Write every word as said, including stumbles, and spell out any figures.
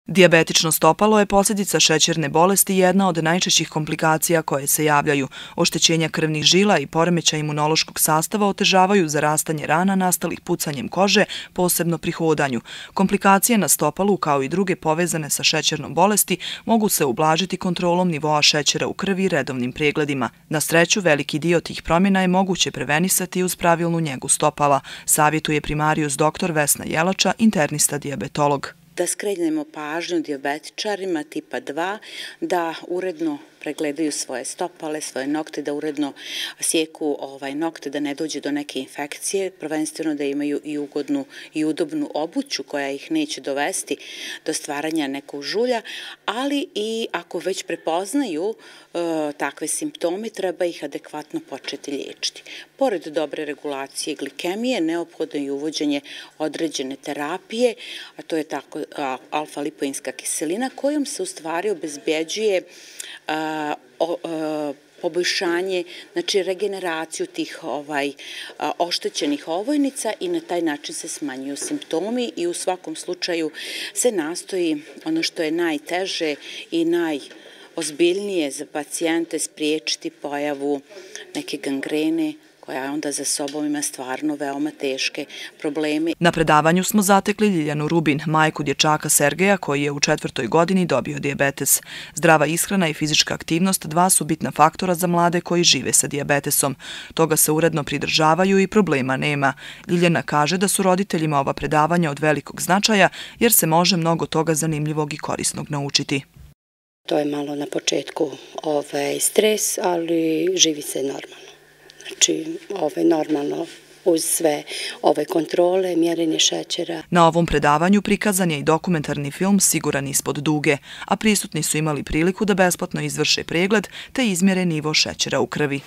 Dijabetično stopalo je posljedica šećerne bolesti i jedna od najčešćih komplikacija koje se javljaju. Oštećenja krvnih žila i poremećaj imunološkog sastava otežavaju zarastanje rana nastalih pucanjem kože, posebno pri hodanju. Komplikacije na stopalu, kao i druge povezane sa šećernom bolesti, mogu se ublažiti kontrolom nivoa šećera u krvi i redovnim pregledima. Na sreću, veliki dio tih promjena je moguće prevenisati uz pravilnu njegu stopala, savjetuje primarijus doktor Vesna Jelača, internista dijabetolog. Da skrenemo pažnju dijabetičarima tipa dva da uredno pregledaju svoje stopale, svoje nokte, da uredno sjeku ovaj, nokte, da ne dođe do neke infekcije, prvenstveno da imaju i ugodnu i udobnu obuću koja ih neće dovesti do stvaranja nekog žulja, ali i ako već prepoznaju e, takve simptome, treba ih adekvatno početi liječiti. Pored dobre regulacije glikemije, neophodno je uvođenje određene terapije, a to je tako alfa-lipoinska kiselina, kojom se u stvari obezbeđuje a, o, a, poboljšanje, znači regeneraciju tih ovaj, a, oštećenih ovojnica i na taj način se smanjuju simptomi i u svakom slučaju se nastoji ono što je najteže i najozbiljnije za pacijente spriječiti pojavu neke gangrene, koja onda za sobom ima stvarno veoma teške probleme. Na predavanju smo zatekli Ljiljanu Rubin, majku dječaka Sergeja koji je u četvrtoj godini dobio dijabetes. Zdrava ishrana i fizička aktivnost dva su bitna faktora za mlade koji žive sa dijabetesom. Toga se uredno pridržavaju i problema nema. Ljiljana kaže da su roditeljima ova predavanja od velikog značaja jer se može mnogo toga zanimljivog i korisnog naučiti. To je malo na početku ovaj, stres, ali živi se normalno. Znači, ove normalno uz sve ove kontrole, mjerenje šećera. Na ovom predavanju prikazan je i dokumentarni film Siguran ispod duge, a prisutni su imali priliku da besplatno izvrše pregled te izmjere nivo šećera u krvi.